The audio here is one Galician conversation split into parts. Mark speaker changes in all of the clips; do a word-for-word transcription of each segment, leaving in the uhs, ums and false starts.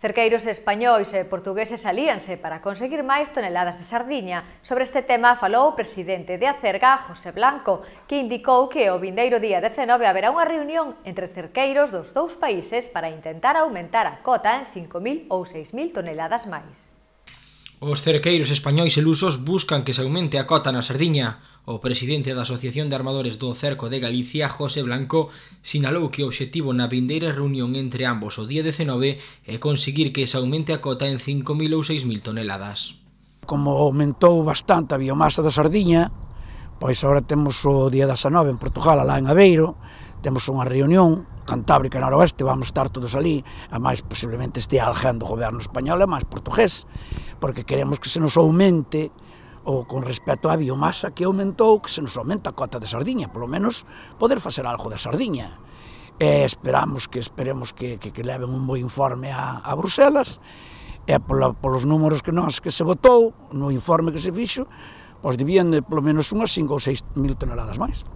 Speaker 1: Cerqueiros españois e portugueses alíanse para conseguir máis toneladas de sardiña. Sobre este tema falou o presidente de Acerga, José Blanco, que indicou que o vindeiro día dezenove haberá unha reunión entre cerqueiros dos dous países para intentar aumentar a cota en cinco mil ou seis mil toneladas máis.
Speaker 2: Os cerqueiros españois e lusos buscan que se aumente a cota na sardiña. O presidente da Asociación de Armadores do Cerco de Galicia, José Blanco, sinalou que o obxectivo na vindeira reunión entre ambos o día dezenove é conseguir que se aumente a cota en cinco mil ou seis mil toneladas.
Speaker 3: Como aumentou bastante a biomasa da sardiña, pois agora temos o día dezenove en Portugal, alá en Aveiro, temos unha reunión Cantábrica e Noroeste, vamos estar todos ali, a máis posiblemente este alguén do goberno español e máis portugués, porque queremos que se nos aumente ou con respecto á biomasa que aumentou, que se nos aumenta a cota de sardiña, polo menos poder facer algo de sardiña. E esperamos que esperemos que, que, que leven un bo informe a, a Bruselas, e polo, polos números que nós que se votou, no informe que se fixo, pois debían de polo menos unhas cinco ou seis mil toneladas máis.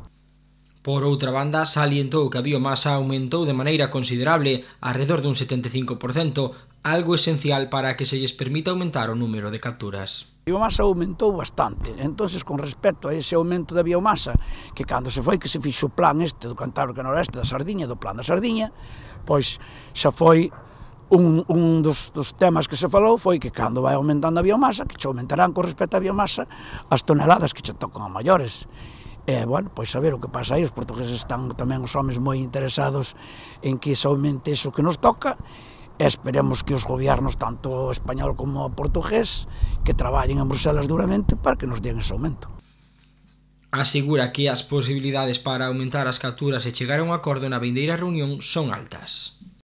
Speaker 2: Por outra banda, salientou que a biomasa aumentou de maneira considerable, alrededor dun setenta e cinco por cento, algo esencial para que se lles permita aumentar o número de capturas.
Speaker 3: A biomasa aumentou bastante, entonces con respecto a ese aumento da biomasa, que cando se foi que se fixo o plan este do Cantábrico e Noroeste da sardiña, do plan da sardiña, pois xa foi un, un dos, dos temas que se falou, foi que cando vai aumentando a biomasa, que che aumentarán con respecto á biomasa as toneladas que che tocan a maiores. E, bueno, pois a ver o que pasa aí, os portugueses están tamén os homes moi interesados en que se aumente iso que nos toca, e esperemos que os gobiernos, tanto español como portugués, que traballen en Bruselas duramente para que nos den ese aumento.
Speaker 2: Asegura que as posibilidades para aumentar as capturas e chegar a un acordo na vindeira reunión son altas.